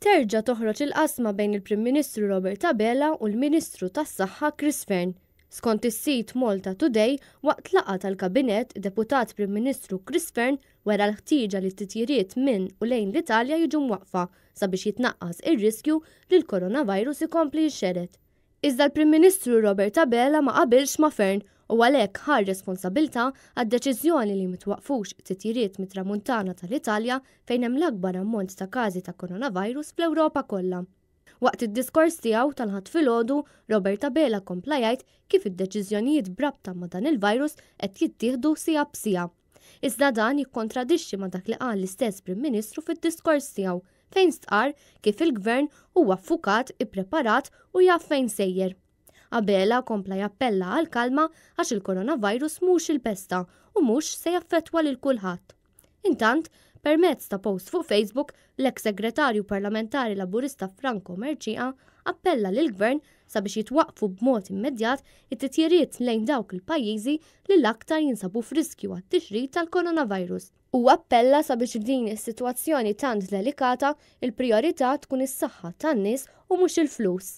Terġa' toħroġ il-qasma bejn il-Prim Ministru Robert Abela u l-Ministru tas-Saħħa Chris Fearne. Skont is-sit Malta Today, waqt laqgħa tal-Kabinett, Deputat Prim Ministru Chris Fearne wera l-ħtieġa li t-titjiriet minn u lejn l-Italja jiġu mwaqqfa sabiex jitnaqqas ir-riskju li l-coronavirus ikompli jixxered. Iżda l-Prim Ministru Robert Abela ma qabilx ma' Fearne u għalhekk ħa r-responsabilità għad-deċiżjoni li mitwaqqfux titjiriet mit-Tramuntana tal-Italja fejn hemm l-akbar ammont ta' każi ta' coronavirus fl-Ewropa kollha. Waqt id-diskors tiegħu tal-Ħadd filgħodu, Robert Abela kompla jgħid kif id-deċiżjonijiet b'rabta ma' dan il-virus qed jittieħdu siegħa b'siegħa. Iżda dan jikkontradixxi ma' dak li qal l-istess Prim Ministru fid-diskors tiegħu fejn stqarr kif il-Gvern huwa ffukat, ippreparat u jaf fejn sejjer. Abela kompla jappella għal kalma għax il-coronavirus mhux il-pesta u mhux se jaffettwa lil kulħadd. Intant, permezz ta' post fuq Facebook, l-eks segretarju parlamentari Laburista Franco Mercieca appella lill-Gvern sabiex jitwaqqfu b'mod immedjat it-titjiriet lejn dawk il-pajjiżi li l-aktar jinsabu f'riskju għat-tixrid tal-coronavirus. Huwa appella sabiex f'din is-sitwazzjoni tant delikata, il-prijorità tkun is-saħħa tan-nies u mhux il-flus.